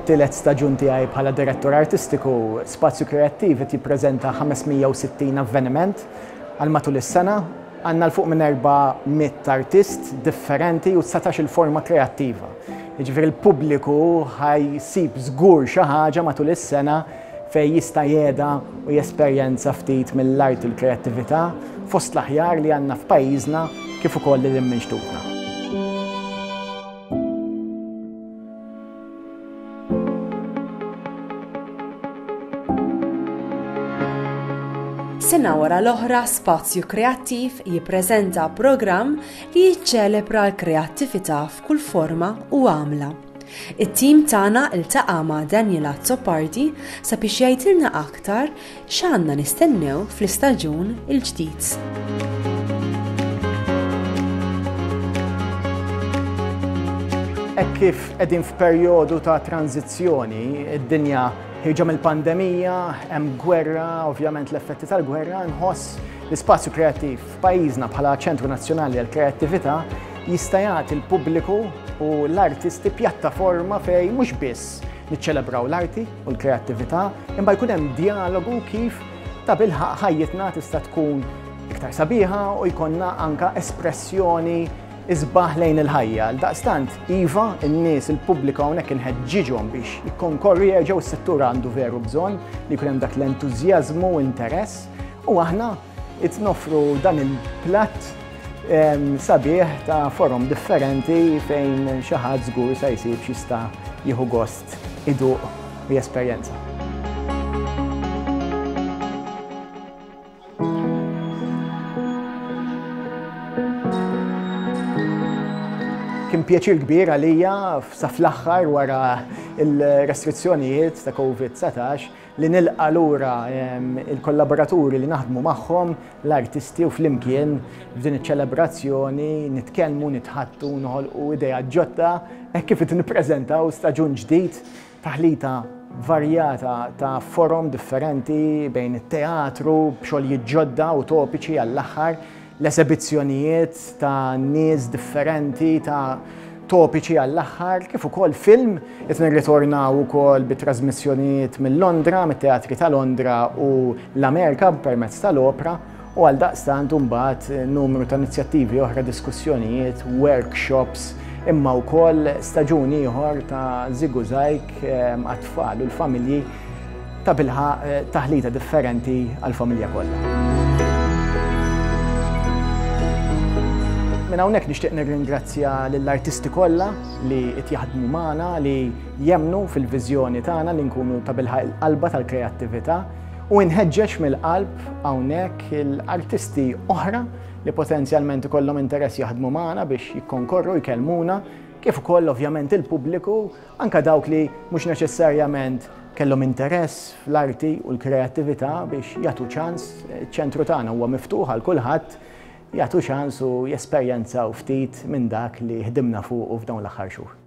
Fit-tielet staġun tiegħi bħala direttur artistiku, Spazju Kreattiv qed jippreżenta 560 avveniment għal matul is-sena. Għandna 'l fuq minn 400 artist differenti u 19-il forma kreattiva. Jiġifieri l-pubbliku ħa jsib żgur xi ħaġa matul is-sena fejn jista' jehda u jesperjenza ftit mill-arti u l-kreattività fost l-aħjar li għandna f'pajjiżna kif ukoll lil hinn minn xtutna. Sena wara l-oħra Spazju Kreattiv jippreżenta programm li jiċċelebra l-kreattività f'kull forma u għamla. It-tim tagħna ltaqa' ma' Daniel Azzopardi sabiex jgħidilna aktar X'għandna nistennew fl-istaġun il-ġdid? Hekk kif qegħdin f'perjodu ta' tranżizzjoni, id-dinja ħierġa mill-pandemija, hemm gwerra, ovvjament l-effetti tal-gwerra, nħoss li spazju kreattiv f'pajjiżna bħala ċentru nazzjonali għall-kreattività jista' jagħti l-pubbliku u l-artisti pjattaforma fejn mhux biss niċċelebraw l-arti, u l-kreattività, imma jkun hemm djalogu kif tabilħaqq ħajjitna tista' tkun iktar sabiħa u jkollna anka espressjoni isbaħ lejn il-ħajja. Daqstant, iva, in-nies, il-pubbliku hawnhekk inħeġġiġhom biex jikkonkorru jerġgħu s-settur għandu veru bżonn li jkun hemm dak l-entużjażmu u interess u aħna qed noffru dan il-platt sabiħ ta' forom differenti fejn xi ħadd żgur se jsib x'jista' jieħu gost iduq u jesperjenza. Kien pjaċir kbir għalija sa fl-aħħar wara il-restrizzjonijiet ta' COVID-19 li nilqa' lura il-kollaboraturi li naħdmu magħhom, l-artisti u flimkien f'din iċ-ċelebrazzjoni nitkellmu, nitħaddtu, noħolqu ideat ġodda hekk kif qed nippreżentaw staġun ġdid, taħlita varjata ta' forom differenti bejn it-teatru b'xogħlijiet ġodda u topiċi għall-aħħar, l-esebizzjonijiet ta' nies differenti ta' topiċi għall-aħħar, kif ukoll film, qed nirritornaw ukoll bi trasmissjonijiet minn Londra, mit-teatri ta' Londra u l-Amerika permezz tal-opra, u għaldaqstant imbagħad numru ta' inizjattivi oħra, diskussjonijiet, workshops, imma wkoll staġun ieħor ta' Żigużajg għat-tfal u l-familji Tabilħaqq taħlita differenti għall-familja kollha. Minn hawnhekk nixtieq nirringrazzja lill-artisti kollha li qed jaħdmu magħna, li jemmnu fil-viżjoni tagħna li nkunu tabilħaqq il-qalba tal-kreattività u nħeġġeġ mill-qalb hawnhekk l-artisti oħra li potenzjalment ikollhom interess jaħdmu magħna biex jikkonkorru jkellmuna, kif ukoll ovvjament il-pubbliku Anke dawk li mhux neċessarjament kellhom interess fl-arti u l-kreattività biex jagħtu ċans, iċ-ċentru tagħna huwa miftuħ għal kulħadd, jagħtu ċans u jesperjenzaw ftit minn dak li ħdimna fuqu f'dawn l-aħħar xhur.